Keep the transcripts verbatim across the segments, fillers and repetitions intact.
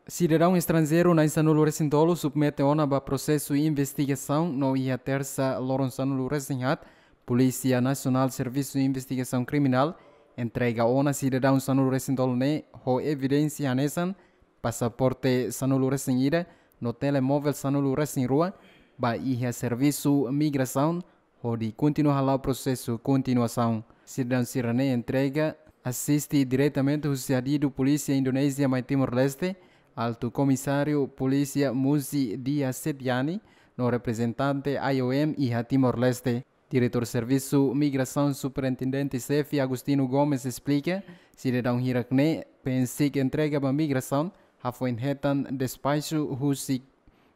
Sidadaun estranjeiru na'in sanulu resin tolu submete ona ba prosesu investigasaun no iha tersa loron sanulu resin haat, Polísia Nasionál Servisu Investigasaun Kriminál entrega ona sidadaun sanulu resin tolu ne'e ho evidénsia hanesan pasaporte sanulu resin ida no telemovel sanulu resin rua ba iha servisu migrasaun hodi kontinua hala'o prosesu kontinuasaun. Sidadaun sira-ne'e entrega asiste diretamente husi adidu Polísia Indonézia mai Timor-Leste, Altu Komisáriu Polísia Muzi Dia Setiani, no reprezentante I O M iha Timor-Leste. Diretór Servisu Migrasaun Superintendente Xefe Agostinho Gomes esplika, sidadaun hirak-ne'e bele simu entrega ba migrasaun, hafoin hetan despaxu husi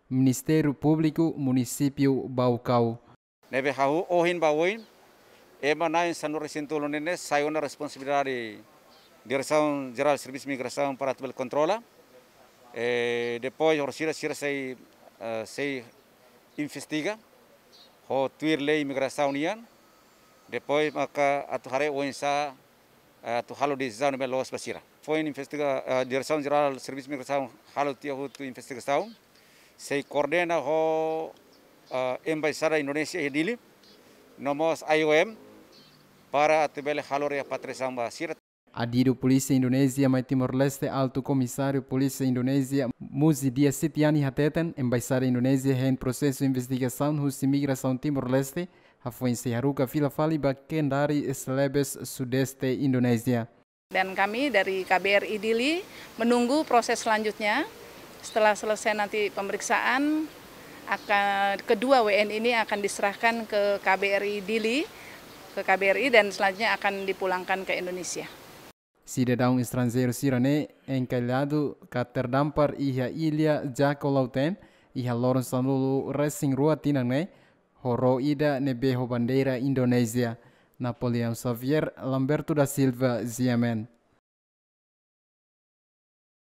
Ministériu Públiku Munisípiu Baucau. Ne'ebé hahú ohin ba oin, ema na'in sanulu resin tolu ne'e sai ona responsabilidade Diresaun Jerál Servisu Migrasaun para atu bele kontrola. E depois, orsida sira sei, eh, sei investiga ho tuir lei migrasaun nian. Depois, maka atu haree oinsá, eh, atu halo desizaun ne'ebé loos ba sira. Foin investiga, eh, Diresaun Jerál Servisu Migrasaun halo tiha hotu investigasaun. Sei koordena ho, eh, Embaixada Indonézia iha Dili, no mós I O M, para atu bele halo repatriasaun ba sira. Adidu Polísia Indonézia mai Timor-Leste, Altu Komisáriu Polísia Indonézia Muzi Dia Setiani hateten, Embaixada Indonézia hein prosesu investigasaun husi migrasaun Timor-Leste, hafoin sei haruka fila fali ba Kendari Celebes, Sudeste Indonézia. Dan kami dari K B R I Dili menunggu proses selanjutnya. Setelah selesai nanti pemeriksaan, akan, kedua W N ini akan diserahkan ke K B R I Dili, ke K B R I, dan selanjutnya akan dipulangkan ke Indonesia. Sidadaun estranjeiru sira-ne'e enkailadu ka terdampar iha illa Jako Lauten, iha loron sanulu resin rua tinan ne'e, ho ró ida ne'ebé ho bandeira Indonézia. Napoleão Xavier, Lamberto da Silva, G M N.